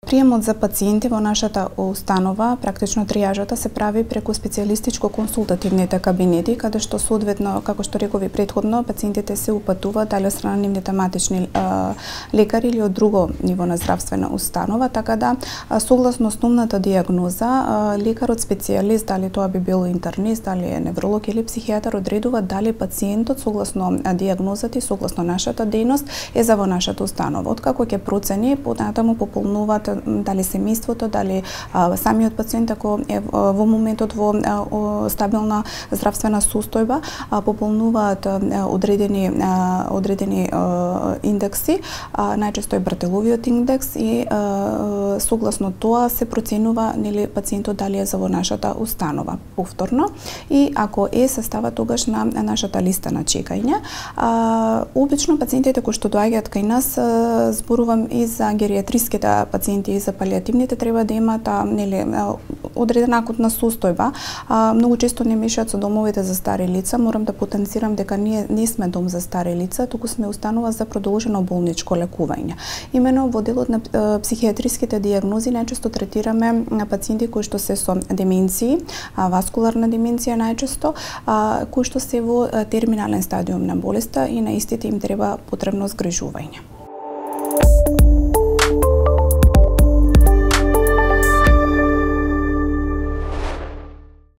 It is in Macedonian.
Приемот за пациенти во нашата установа, практично тријажата се прави преку специјалистичко консултативните кабинети, каде што соодветно, како што рекови претходно, пациентите се упатуваат дали од страна на нивните матични лекари или од друго ниво на здравствена установа, така да согласно основната дијагноза, лекарот специјалист, дали тоа би бил интернист, дали е невролог или психијатар, одредува дали пациентот согласно дијагнозата и согласно нашата дејност е за во нашата установа. Откако ќе процени, понатаму пополнуваат дали семејството, дали самиот пациент ако е во моментот во стабилна здравствена состојба, пополнуваат одредени индекси, најчесто е Бартеловиот индекс и согласно тоа се проценува нели пациентот дали е за во нашата установа повторно и ако е се става тогаш на нашата листа на чекање. Обично пациентите кои што доаѓаат кај нас, зборувам и за гериатриските пациенти и за палијативните, треба да имаат нели одредена акутна состојба. Многу често не мешаат со домовите за стари лица. Морам да потенцирам дека ние не сме дом за стари лица, туку сме установа за продолжено болничко лекување. Имено во делот на психијатриските дијагнози најчесто третираме пациенти кои што се со деменции, васкуларна деменција најчесто, кои што се во терминален стадиум на болеста и на истите им треба потребно згрижување.